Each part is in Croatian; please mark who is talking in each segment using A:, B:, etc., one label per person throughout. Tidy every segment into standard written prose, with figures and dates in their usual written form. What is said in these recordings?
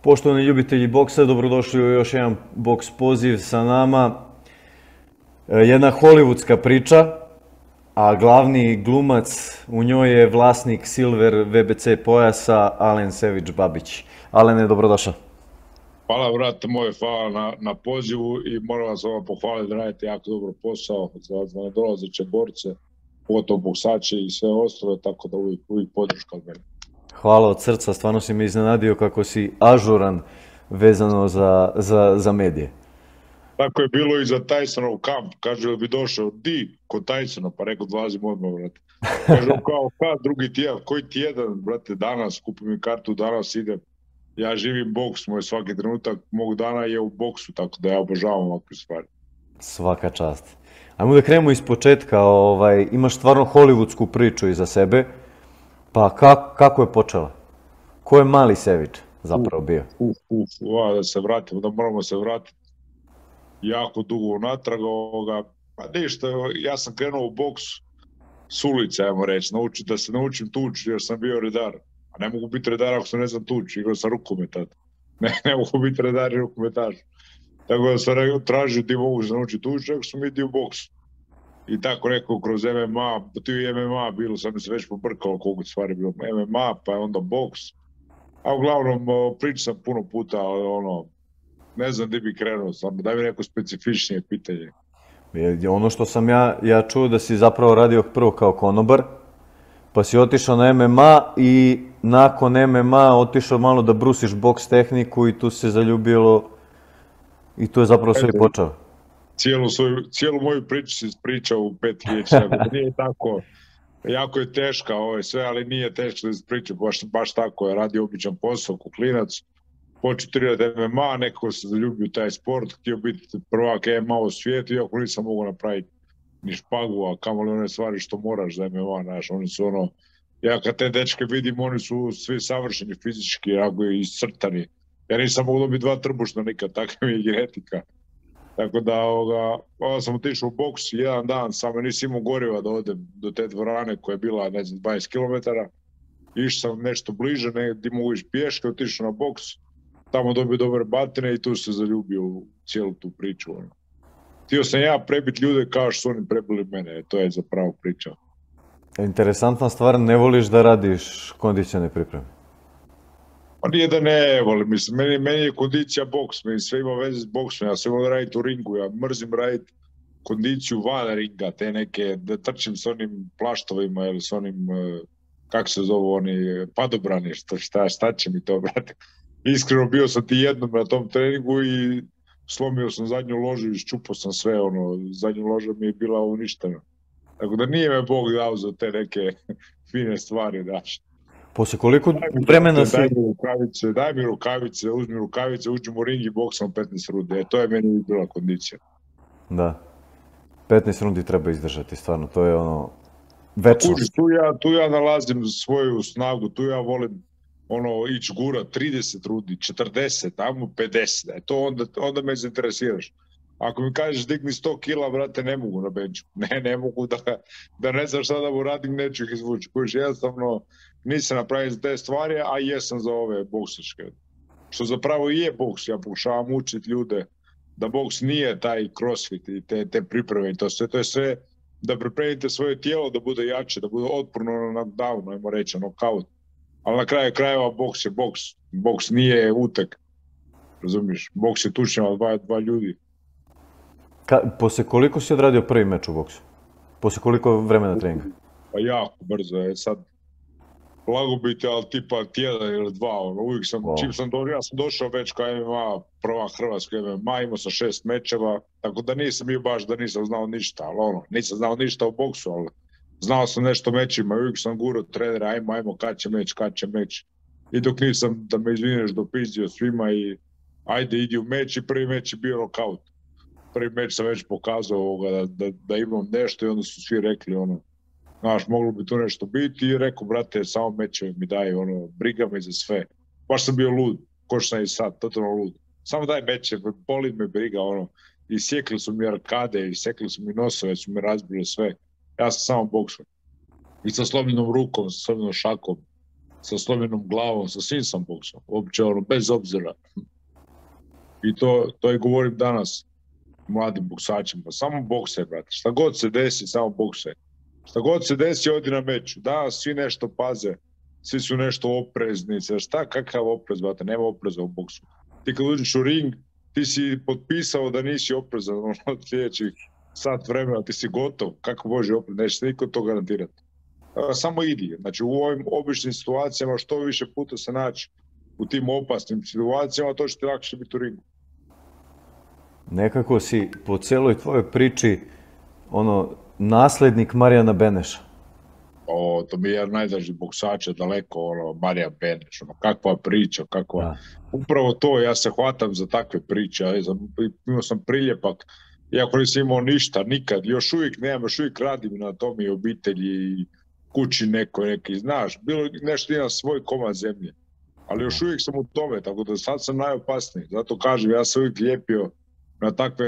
A: Poštovani ljubitelji boksa, dobrodošli u još jedan boks poziv sa nama. Jedna hollywoodska priča, a glavni glumac u njoj je vlasnik Silver VBC pojasa Alen Sević-Babić. Alene, dobrodošao.
B: Hvala, brate moj, hvala na pozivu i moram vas pohvaliti da radite jako dobro posao za nedolazeće borce, pogotovo boksače i sve ostalo, tako da uvijek podrška od mene.
A: Hvala od srca, stvarno si me iznenadio kako si ažuran vezano za medije.
B: Tako je bilo i za Tysonov kamp, kaže da bi došao kod Tysona, pa rekao dolazim odmah, brate. Kaže kao drugi tjedan, koji tjedan, brate, danas, kupim mi kartu, danas idem. Ja živim boks, moj svaki trenutak mog dana je u boksu, tako da ja obožavam ovakve stvari.
A: Svaka čast. Ajmo da krenemo iz početka, imaš stvarno hollywoodsku priču iza sebe, pa kako je počela? Ko je mali Sević zapravo bio?
B: Da se vratimo, da moramo se vratiti jako dugo unatrag pa ništa, ja sam krenuo u boks s ulice, ajmo reći, da se naučim tući jer sam bio redar. A ne mogu biti redar ako se ne znam tući, igrao sam rukomet tada. Ne mogu biti redar i rukometaš. Tako da sam tražio ti mogu se naučiti tući, ako sam idio u boks. I tako rekao kroz MMA, ti je MMA bilo, sam mi se već pobrkalo koliko stvari bilo. MMA, pa je onda boks. A uglavnom pričam sam puno puta, ali ne znam gdje bi krenuo, samo daj mi neko specifičnije pitanje.
A: Ono što sam ja čuo da si zapravo radio prvo kao konobar, pa si otišao na MMA i nakon MMA otišao malo da brusiš boks tehniku i tu se zaljubilo i tu je zapravo sve počeo.
B: Cijelu moju priču si ispričao u 5 riječi, nije tako, jako je teška sve, ali nije teško da se priča, baš tako je, radio običan posao, ko klinac, počeo trenirati MMA, nekako se zaljubio u taj sport, htio biti prvak MMA u svijetu, iako nisam mogao napraviti ni špagu, a kamoli one stvari što moraš za MMA, znaš, oni su ja kad te dečke vidim, oni su svi savršeni fizički, jako i iscrtani. Ja nisam mogao dobiti 2 trbušna nikad, takva mi je genetika. Tako da, sam otišao u boks jedan dan, samo nisam imao goriva da odem do te dvorane koja je bila, ne znam, 20 km. Išao sam nešto bliže, gdje mogu ići pješke, otišao na boks, tamo dobio dobre batine i tu se zaljubio u cijelu tu priču. Htio sam ja prebiti ljude kao što su oni prebili mene, to je zapravo priča.
A: Interesantna stvar, ne voliš da radiš kondicione pripreme?
B: Pa nije da ne volim, mislim, meni je kondicija boks, sve ima veze s boksom, ja sam imao da raditi u ringu, ja mrzim raditi kondiciju van ringa, te neke, da trčim s onim plaštovima ili s onim, kako se zovu oni, padobrani, šta će mi to, brate. Iskreno bio sam ti jednom na tom treningu i slomio sam zadnju ložu i iščupao sam sve, zadnju loža mi je bila uništena. Tako da nije me Bog dao za te neke fine stvari, daš.
A: Poslije koliko vremena si...
B: Daj mi rukavice, uzmi rukavice, uđem u ring i boksam 15 rundi. To je meni bila kondicija.
A: Da. 15 rundi treba izdržati, stvarno, to je večnost.
B: Tu ja nalazim svoju snagu, tu ja volim ići gura 30 rundi, 40, tamo 50, onda me zainteresiraš. Ako mi kažeš digni 100 kila, brate, ne mogu na benču. Ne mogu da ne znam šta da mu radim, neću ih izvući. Kojiš, jednostavno nisam napravio za te stvari, a jesam za ove boksačke. Što zapravo i je boks, ja pokušavam učiti ljude da boks nije taj crossfit i te pripreme i to sve. To je sve da pripremite svoje tijelo da bude jače, da bude otporno na knockdown, ajmo reći, knockout. Ali na kraju krajeva boks je boks. Boks nije utek. Razumiješ? Boks je tučnjava dva ljudi.
A: Poslije koliko si odradio prvi meč u boksu? Poslije koliko vremena treninga?
B: Pa jako brzo je sad. Lago biti, ali tipa tjedan ili 2. Uvijek ja sam došao već kao MMA, prva hrvatska MMA, imao sam 6 mečeva, tako da nisam bio baš da nisam znao ništa, ali nisam znao ništa o boksu, ali znao sam nešto o mečima, uvijek sam gurao trenera, ajmo, kad će meč. I dok nisam, da me izvineš, dopizdio svima i ajde, idi u meč i prvi meč je bio knockout. Prvi meč sam već pokazao da imam nešto i onda su svi rekli znaš, moglo bi tu nešto biti i rekao, brate, samo meče mi daj, briga me za sve. Baš sam bio lud, ko što sam i sad, totalno lud. Samo daj meče, boli me briga, i sjekli su mi arkade, i sjekli su mi nosove, su mi razbili sve. Ja sam samo boksao. I sa slomljenom rukom, sa slomljenom šakom. sa slomljenom glavom, sa svim sam boksao, uopće ono, bez obzira. I to i govorim danas mladim boksačima, samo boksaj, brate, šta god se desi, samo boksaj. Šta god se desi, odi na meč. Danas svi nešto paze, svi su nešto oprezni, šta, kakav oprez, brate, nema opreza u boksu. Ti kad uđeš u ring, ti si potpisao da nisi oprezan od sljedećih sat vremena, ti si gotov, kako može oprez, neće se niko to garantirati. Samo idi, znači u ovim običnim situacijama što više puta se naći u tim opasnim situacijama, to će ti lakše biti u ringu.
A: Nekako si po celoj tvojoj priči naslednik Marijana Beneša.
B: To mi je jedan najdraži boksača, daleko, Marijan Beneš, kakva priča, kakva... Da. Upravo to, ja se hvatam za takve priče, imao sam priljepak, iako nisam imao ništa, nikad, još uvijek nemam, još uvijek radim na tom i obitelji i kući neki, znaš, bilo nešto imam svoj komad zemlje, ali još uvijek sam u tome, tako da sad sam najopasniji, zato kažem, ja sam uvijek lijepio na takve,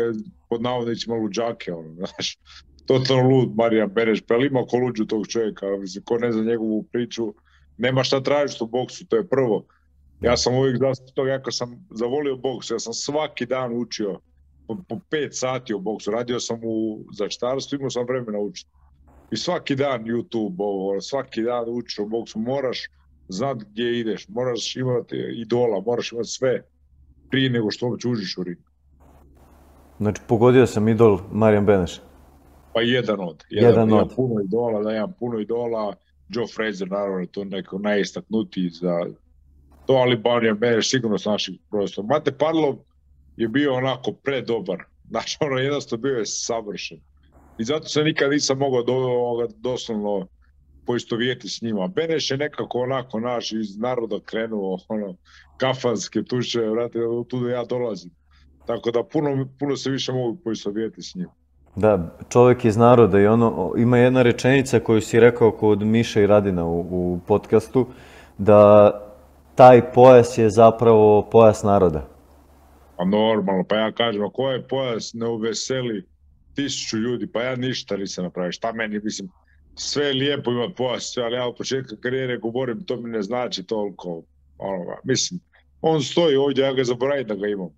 B: pod navodnicima, luđake, znaš, totalno lud Marijan Beneš, pa li ima ko luđu tog čovjeka, mislim, ko ne zna njegovu priču, nema šta tražiti u boksu, to je prvo. Ja sam uvijek toga, ja kad sam zavolio boks, ja sam svaki dan učio po 5 sati o boksu, radio sam u zaštitarstvu, imao sam vremena učiti. I svaki dan YouTube, svaki dan učiš o boksu, moraš znati gdje ideš, moraš imati idola, moraš imati sve prije nego što uopće uđeš u ring.
A: Znači, pogodio sam idol Marijan Beneš.
B: Pa jedan od. Imam puno idola, Joe Frazier, naravno, to neko najistaknutiji za to, ali Marijan Beneš sigurno s naših prostora. Mate Parlov je bio onako predobar, znači jednostavno bio je savršen. I zato se nikad nisam mogao doslovno poistovijeti s njima. Beneš je nekako onako naš iz naroda krenuo, kafanske tuče, vrati, tu ja dolazim. Tako da puno se više mogu poistovijeti s njim.
A: Da, čovjek iz naroda i ima jedna rečenica koju si rekao kod Miša i Radina u podcastu, da taj pojas je zapravo pojas naroda.
B: Pa normalno, pa ja kažem, ako ovaj pojas ne uveseli 1000 ljudi, pa ja ništa nisam napravio. Šta meni, mislim, sve je lijepo imati pojas, sve, ali ja od početka karijere govorim, to mi ne znači toliko. Mislim, on stoji ovdje, ja ga zaboravim da ga imam.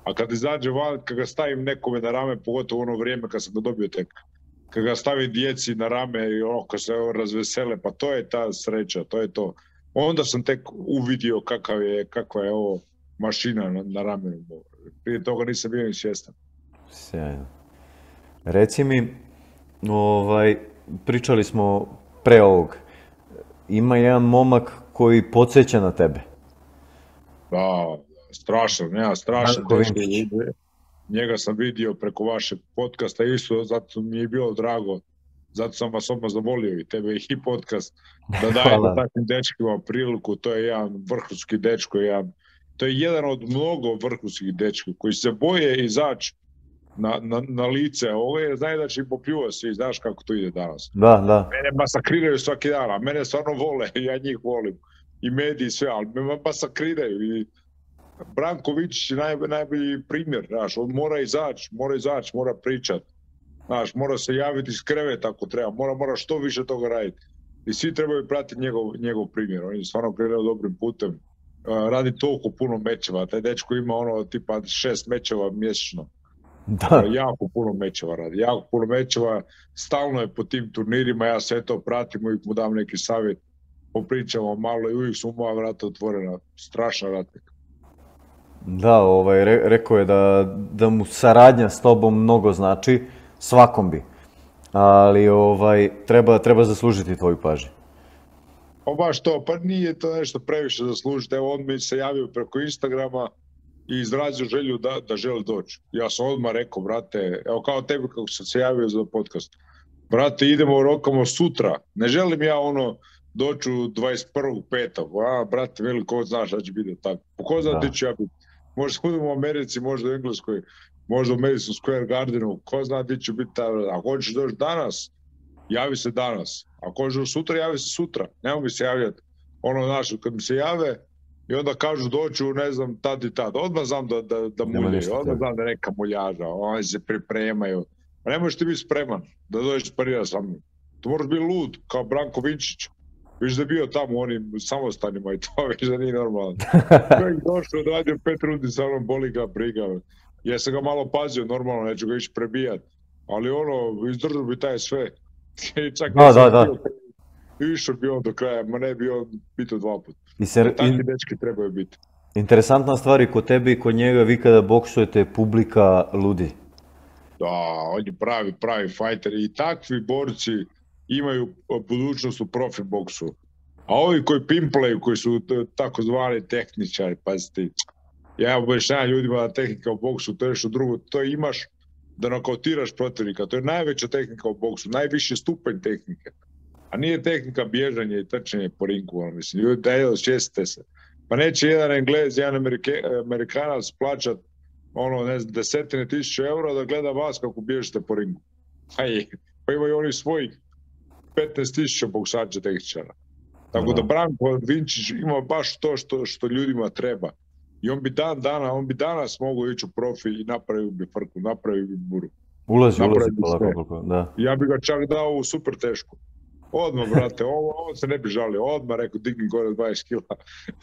B: A kad izađe van, kad ga stavim nekome na rame, pogotovo ono vrijeme kad sam ga dobio tek, kad ga stavim djeci na rame i kad se razvesele, pa to je ta sreća, to je to. Onda sam tek uvidio kakva je ovo mašina na ramenu. Prije toga nisam bio ni svjestan.
A: Sjajno. Reci mi, pričali smo pre ovog, ima jedan momak koji podsjeća na tebe.
B: Da, strašan. Njega sam vidio preko vašeg podcasta isto, zato mi je bilo drago, zato sam vas odmah zavolio i tebe i podcast, da dajete takvim dečkima priliku, to je jedan vrhunski dečko, to je jedan od mnogo vrhunskih dečka koji se boje izaći na lice ove, znaju da će im popljuva svi, znaš kako to ide danas.
A: Da.
B: Mene masakriraju svaki dan, a mene stvarno vole, ja njih volim, i mediji sve, ali me masakriraju i Branko Vičić je najbolji primjer, znaš, on mora izaći, mora pričat, znaš, mora se javiti iz kreveta ako treba, mora što više toga raditi. I svi trebaju pratiti njegov primjer, on je stvarno krenuo dobrim putem, radi toliko puno mečeva, taj dečko ima tipa 6 mečeva mjesečno.
A: Da.
B: Jako puno mečeva, stalno je po tim turnirima, ja sve to pratim, uvijek mu dam neki savjet, popričamo malo i uvijek su moja vrata otvorena, strašan ratnik.
A: Da, rekao je da mu saradnja s tobom mnogo znači, svakom bi, ali treba zaslužiti tvoju pažnju.
B: Pa baš to, pa nije to nešto previše zaslužiti, evo on mi se javio preko Instagrama i izrazio želju da želi doći. Ja sam odmah rekao, brate, evo kao tebi kako sam se javio za podcast, brate, idemo rokamo sutra, ne želim ja doći u 21.5. Brate, veliko znaš da će biti tako, ko zna ti ću ja biti. Možda budemo u Americi, možda u Engleskoj, možda u Madison Square Gardenu, ko zna ti ću biti tamo. Ako hoćeš doći danas, javi se danas. Ako hoćeš sutra, javi se sutra. Nemo mi se javljati. Kad mi se jave i onda kažu doću, ne znam, tad i tad. Odmah znam da muljaju, odmah znam da neka muljaža, oni se pripremaju. A ne možeš ti biti spreman da dođeš parira sa mnom. To moraš biti lud, kao Branko Vinčić. Viš da je bio tamo u onim samostanima i to, viš da nije normalno. Čovjek došao, odradio 5 rundi sa mnom, boli ga briga. Ja sam ga malo pazio, normalno, neću ga ići prebijat. Ali ono, izdržao bi taj sve. Čak
A: da.
B: Išao bi on do kraja, ma ne bi on pitao 2 puta. Takvi dečki trebaju biti.
A: Interesantna stvar i kod tebe i kod njega, vi kada boksujete, publika ludi.
B: Da, on je pravi fajter i takvi borci imaju budućnost u profi boksu. A ovi koji pimplaju, koji su takozvani tehničari, pazite, ja objašnjavam ljudima da tehnika u boksu, to je nešto drugo, to imaš da nokautiraš protivnika, to je najveća tehnika u boksu, najviši stupanj tehnike. A nije tehnika bježanje i trčanje po ringu, mislim, ljudi, daj, osvijestite se. Pa neće jedan Englez, jedan Amerikanac plaćat ne znam, 10.000 eura da gleda vas kako bježite po ringu. Pa imaju oni svojih 15.000 boksača tehničara. Tako da Branko Vinčić ima baš to što ljudima treba. I on bi danas mogao ići u profi i napravio bi frku, napravio bi buru.
A: Ulazi polako, da.
B: Ja bi ga čak dao u super tešku. Odmah, brate, ovo se ne bi žalio. Odmah rekao, digni gore 20 kila.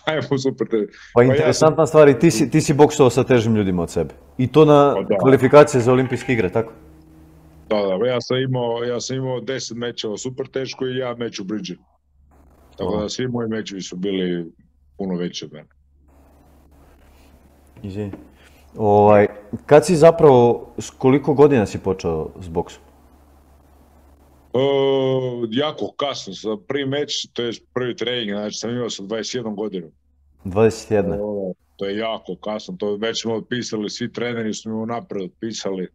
B: Ajmo super tešku.
A: Pa interesantna stvar, i ti si boksovao sa težim ljudima od sebe. I to na kvalifikacije za olimpijske igre, tako?
B: Da, ja sam imao 10 mečeva super teško i ja meč u bridži. Tako da svi moji mečevi su bili puno veći od mene.
A: Izvini. Kad si zapravo, s koliko godina si počeo s boksom?
B: Jako kasno, za prvi meč, to je prvi trening, znači sam imao 21 godinu.
A: 21?
B: To je jako kasno, to već smo otpisali, svi treneri su mi unapred otpisali.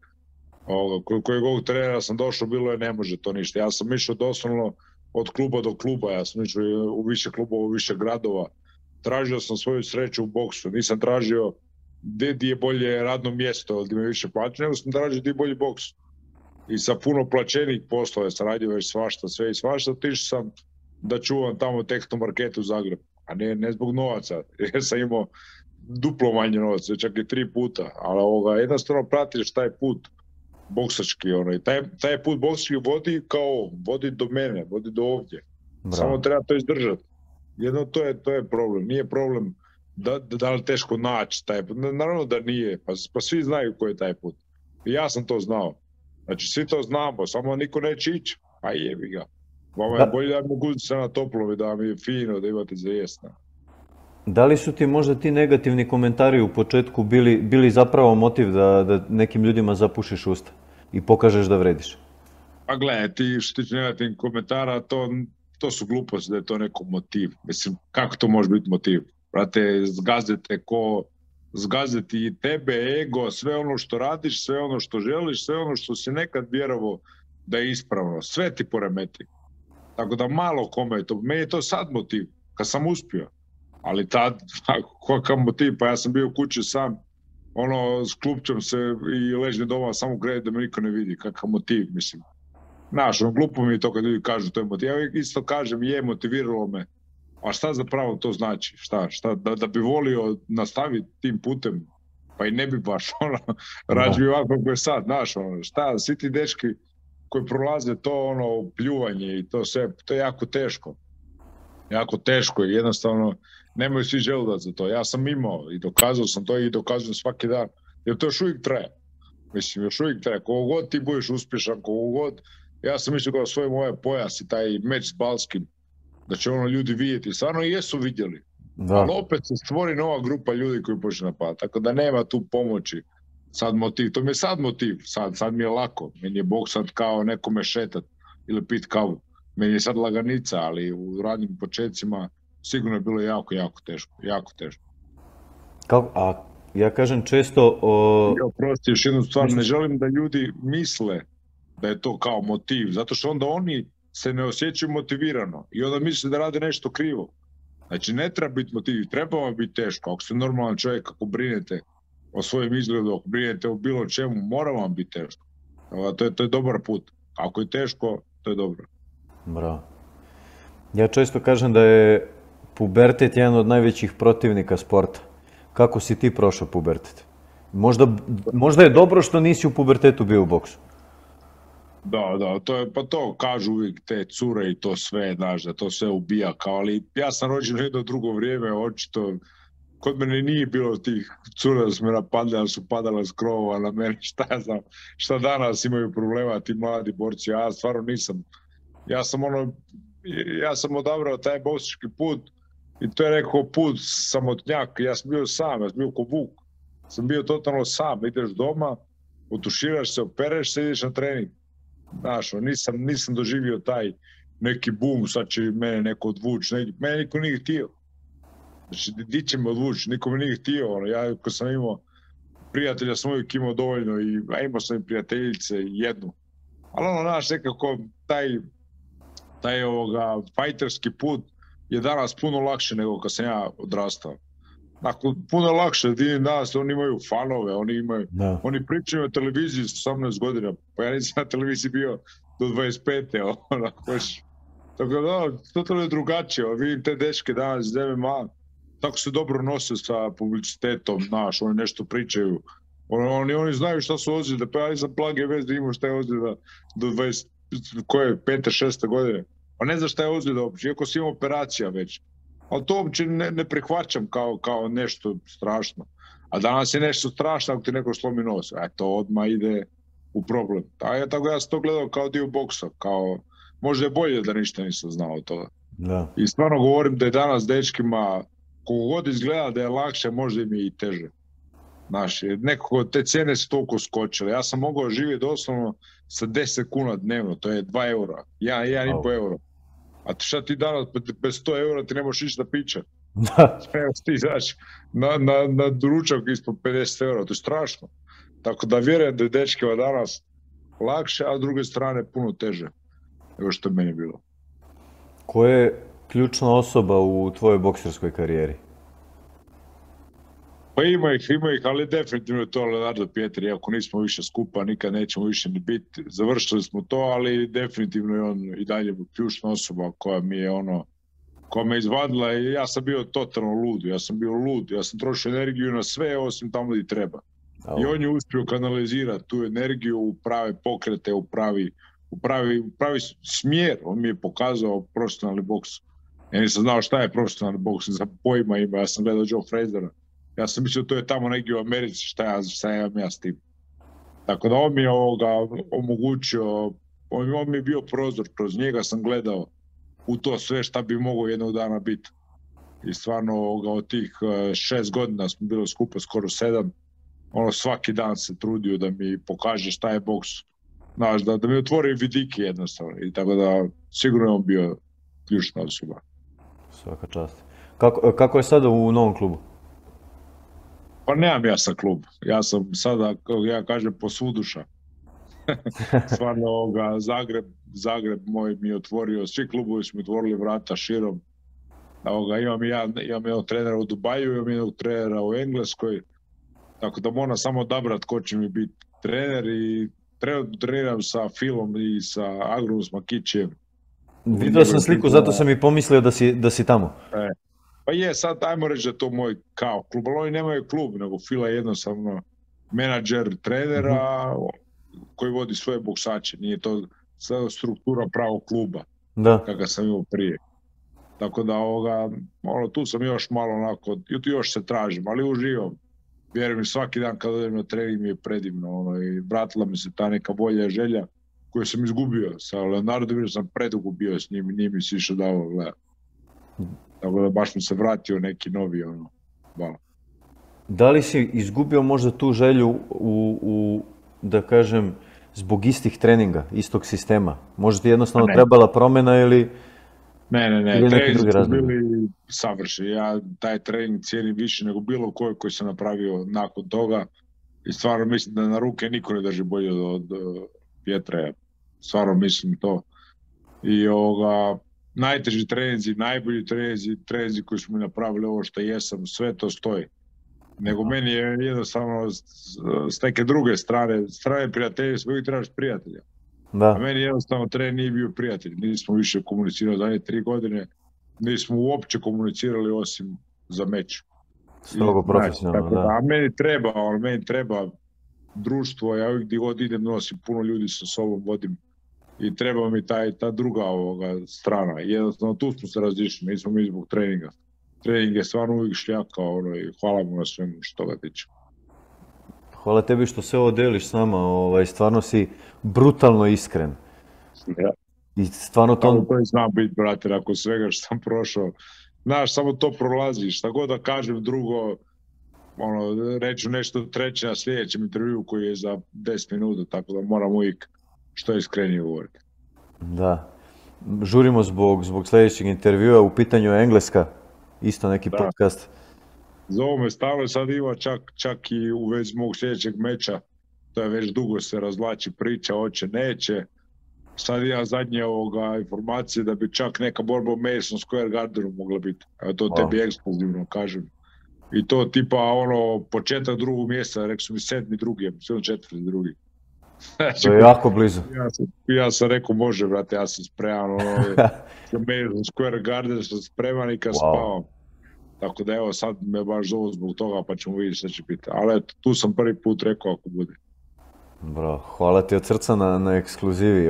B: Kojeg ovog trenera sam došao, bilo je ne može to ništa. Ja sam išao doslovno od kluba do kluba, ja sam išao u više klubova, u više gradova. Tražio sam svoju sreću u boksu, nisam tražio gdje je bolje radno mjesto, gdje me više plaća, nego sam tražio gdje je bolji boks. I sa puno plaćenih poslova sam radio već svašta, sve i svašta, otišao sam da čuvam tamo Tehnomarketu u Zagrebu. A ne zbog novaca, jer sam imao duplo manje novaca, čak i 3 puta, ali jednostavno pratiš taj put boksački, i taj put boksački vodi do mene, vodi do ovdje. Bravo. Samo treba to izdržati. Jedno to je problem, nije problem da li teško naći taj put, naravno da nije, pa svi znaju koji je taj put. I ja sam to znao. Znači, svi to znamo, samo niko neće ići, a jebi ga. Vama je bolje da mi guzice na toplom i da mi je fino, da imate za jesna.
A: Da li su ti možda ti negativni komentari u početku bili zapravo motiv da nekim ljudima zapušiš usta i pokažeš da vrediš?
B: Pa gledaj, ti što tiče negativnih komentara, to su gluposti da je to neko motiv. Mislim, kako to može biti motiv? Brate, zgaziti i tebe, ego, sve ono što radiš, sve ono što želiš, sve ono što si nekad vjerovao da je ispravno, sve ti poremeti. Tako da malo kome je to, meni je to sad motiv, kad sam uspio. Ali tad, kakav motiv, pa ja sam bio u kući sam, s klupčom se i ležim doma samo gledati da me niko ne vidi, kakav motiv, mislim. Znaš, glupo mi je to kad ljudi kažu to je motiv. Ja isto kažem, je, motiviralo me. A šta zapravo to znači? Šta? Da bi volio nastaviti tim putem, pa i ne bi baš, rađi ovako kako je sad, znaš, šta, svi ti dečki koji prolaze to, pljuvanje i to sve, to je jako teško. Jako teško i jednostavno nemaju svi želudac za to. Ja sam imao i dokazao sam to i dokazujem svaki dan, jer to još uvijek traje. Mislim, još uvijek traje. Koliko god ti budeš uspješan, koliko god, ja sam mislio kao svoj ovaj pojas i taj meč s Balskim, da će ljudi vidjeti. Stvarno i jesu vidjeli. Da. Ali opet se stvori nova grupa ljudi koji počne napadati. Tako da nema tu pomoći. Sad motiv. To mi je sad motiv. Sad mi je lako. Meni je boks sad kao nekome šetat ili pit kavu. Meni je sad laganica, ali u radnim početcima sigurno je bilo jako, jako teško. Jako teško.
A: A ja kažem često...
B: Oprosti, još jednu stvar. Ne želim da ljudi misle da je to kao motiv. Zato što onda oni se ne osjećaju motivirano i onda misle da rade nešto krivo. Znači, ne treba biti motiv, treba vam biti teško. Ako ste normalan čovjek, ako brinete o svojim izgledu, ako brinete o bilo čemu, mora vam biti teško. To je dobar put. Ako je teško, to je dobro.
A: Bravo. Ja često kažem da je pubertet jedan od najvećih protivnika sporta. Kako si ti prošao pubertet? Možda je dobro što nisi u pubertetu bio u boksu.
B: Da, to je, pa to kažu uvijek te cure i to sve, znaš, da to sve ubija, kao, ali ja sam rođen u jedno drugo vrijeme, očito, kod mene nije bilo tih cura da su me napadali, ali su padala s krovova na mene, šta ja znam, šta danas imaju problema ti mladi borci, ja stvarno nisam, ja sam ja sam odabrao taj boksički put i to je rekao put samotnjak, ja sam bio sam, ja sam bio ko vuk, sam bio totalno sam, ideš doma, otuširaš se, opereš se, ideš na trening. Znaš, nisam doživio taj neki boom, sad će mene neko odvući, mene niko nije htio. Znači, di će me odvući, niko me nije htio. Ja, ko sam imao prijatelja, sam uvijek imao dovoljno i imao sam i prijateljice jednu. Ali znaš, nekako taj fajterski put je danas puno lakše nego kad sam ja odrastao. Dakle, puno lakše, danas oni imaju fanove, oni pričaju o televiziji s 18 godina, pa ja nisam na televiziji bio do 25. Tako da, totalno je drugačije, vidim te dečke danas iz MMA, tako se dobro nose sa publicitetom, znaš, oni nešto pričaju, oni znaju šta su ozljede, pa ja nisam plage vez da imam šta je ozljeda do 20, koje, 5. 6. godine, pa ne znam šta je ozljeda uopće, iako si imam operacija već. Ali to uopće ne prihvaćam kao nešto strašno. A danas je nešto strašno ako ti neko slomi nos. To odmah ide u problem. Tako ja sam to gledao kao dio boksa. Možda je bolje da ništa nisam znao od toga.
A: Da.
B: I stvarno govorim da je danas dečkima, koliko god izgleda da je lakše, možda im je i teže. Znaš, nekako te cijene su toliko skočile. Ja sam mogao živjeti doslovno sa 10 kuna dnevno, to je 2 eura, 1,5 euro. A šta ti danas, bez 100 eura ti ne možeš ići na piće. Ti izaći na ručak ispod 50 eura, to je strašno. Tako da vjerujem da je dečkima danas lakše, a s druge strane puno teže nego što je meni bilo.
A: Ko je ključna osoba u tvojoj bokserskoj karijeri?
B: Pa ima ih, ali definitivno je to Leonardo Pietri, iako nismo više skupa, nikad nećemo više ni biti. Završili smo to, ali definitivno je on i dalje ključna osoba koja me izvadila i ja sam bio totalno lud, ja sam trošio energiju na sve osim tamo gdje treba. I on je uspio kanalizirati tu energiju u prave pokrete, u pravi smjer, on mi je pokazao profesionalni boks. Ja nisam znao šta je profesionalni boks, za pojma ima, ja sam gledao Joe Frazera. Ja sam mislio to je tamo negdje u Americi, šta ja s tim. Tako da on mi je omogućio, on mi je bio prozor, kroz njega sam gledao u to sve šta bi mogao jednog dana biti. I stvarno od tih 6 godina smo bili skupa, skoro 7, svaki dan se trudio da mi pokaže šta je boks. Znaš, da mi otvori vidike jednostavno. I tako da sigurno je on bio ključna osoba.
A: Svaka čast. Kako je sada u novom klubu?
B: Pa nemam ja sad klub. Ja sam sada, kako ja kažem, posvuduša. Stvarno Zagreb moj mi je otvorio, svi klubovi su mi otvorili vrata širom. Imam jednog trenera u Dubaju, imam jednog trenera u Engleskoj. Tako da moram samo odabrati ko će mi biti trener i treniram sa Filom i sa Agrom Smakićem.
A: Vidio sam sliku, zato sam i pomislio da si tamo.
B: Pa je, sad ajmo reći da je to moj kao klub, ali oni nemaju klub, nego Fila je jednostavno menadžer trenera koji vodi svoje boksače, nije to struktura pravog kluba, kakav sam imao prije. Tako da tu sam još malo onako, još se tražim, ali uživam. Vjerujem mi, svaki dan kad odem na trening mi je predivno, i vratila mi se ta neka volja i želja koju sam izgubio. Sa Leonardom sam predugo bio s njim i nije mi se išao dao gledati. Tako da baš mi se vratio neki novi val.
A: Da li si izgubio možda tu želju da kažem, zbog istih treninga, istog sistema? Možda ti jednostavno trebala promjena ili...
B: Ne, trening su bili savršeni. Ja taj trening cijenim više nego bilo koji sam napravio nakon toga i stvarno mislim da na ruke niko ne drži bolje od Pietra. Stvarno mislim to. I najteži treninzi, najbolji treninzi koji smo mi napravili, ovo što jesam, sve to stoji. Nego meni je jednostavno s neke druge strane prijatelja, uvijek trebaš prijatelja. A meni jednostavno trener nije bio prijatelj, nismo više komunicirali zadnje 3 godine, nismo uopće komunicirali osim za meč.
A: Strogo profesionalno, da.
B: A meni treba društvo, ja uvijek gdje god idem nosim puno ljudi sa sobom, vodim i treba mi ta druga strana. Jednostavno tu smo se razišli, nismo mi zbog treninga. Trening je stvarno uvijek šljaka i hvala mu na svemu što ga tiče.
A: Hvala tebi što se ovo deliš s nama, stvarno si brutalno iskren.
B: Ja.
A: I stvarno
B: to i znam biti, brate, nakon svega što sam prošao. Znaš, samo to prolaziš, šta god da kažem drugo, reću nešto treće na sljedećem intervju koji je za 10 minuta, tako da moram uvijek što iskrenije govoriti.
A: Da. Žurimo zbog sljedećeg intervjua, u pitanju je Engleska, isto neki podcast.
B: Zovu me stalno, sad ima čak i u vezi mog sljedećeg meča, to je već dugo se razvlači priča, hoće, neće. Sad ja zadnje informacije da bi čak neka borba u Madison Square Gardenu mogla biti. Evo to tebi ekskluzivno kažem. I to tipa početak drugog mjeseca, rekao su mi 7.2., ja mislim 4.2. Znači,
A: to je jako blizu.
B: Ja sam rekao može, brate, ja sam spreman, Madison Square Garden sam spreman i kad spavam. Tako da evo sad me baš zovu zbog toga pa ćemo vidjeti što će biti. Ali eto, tu sam prvi put rekao ako bude.
A: Bro, hvala ti od srca na ekskluzivi.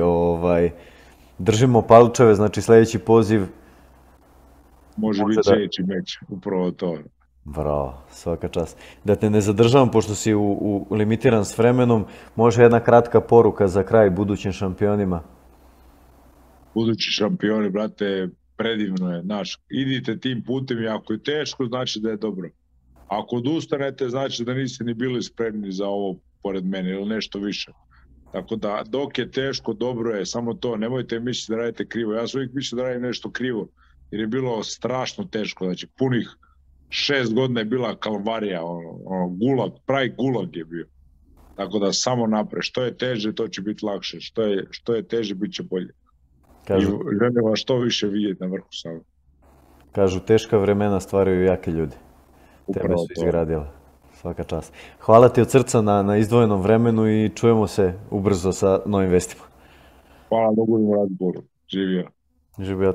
A: Držimo palčeve, znači sljedeći poziv.
B: Može biti sljedeći meč, upravo to.
A: Bravo, svaka čast. Da te ne zadržavam, pošto si limitiran s vremenom, može jedna kratka poruka za kraj budućim šampionima?
B: Budući šampioni, brate, predivno je. Idite tim putem i ako je teško, znači da je dobro. Ako odustanete, znači da niste ni bili spremni za ovo pored mene ili nešto više. Tako da, dok je teško, dobro je, samo to. Nemojte misliti da radite krivo. Ja sam uvijek mislio da radim nešto krivo, jer je bilo strašno teško. Znači, punih 6 godina je bila kalvarija, gulag, pravi gulag je bio. Tako da, samo napred. Što je teže, to će biti lakše. Što je teže, bit će bolje. I želim vas što više vidjeti na vrhu sada.
A: Kažu, teška vremena stvaraju jake ljudi. Tebe su izgradile. Svaka čast. Hvala ti od srca na izdvojenom vremenu i čujemo se ubrzo sa novim vestima.
B: Hvala, mogu im razgovoru. Živio.
A: Živio.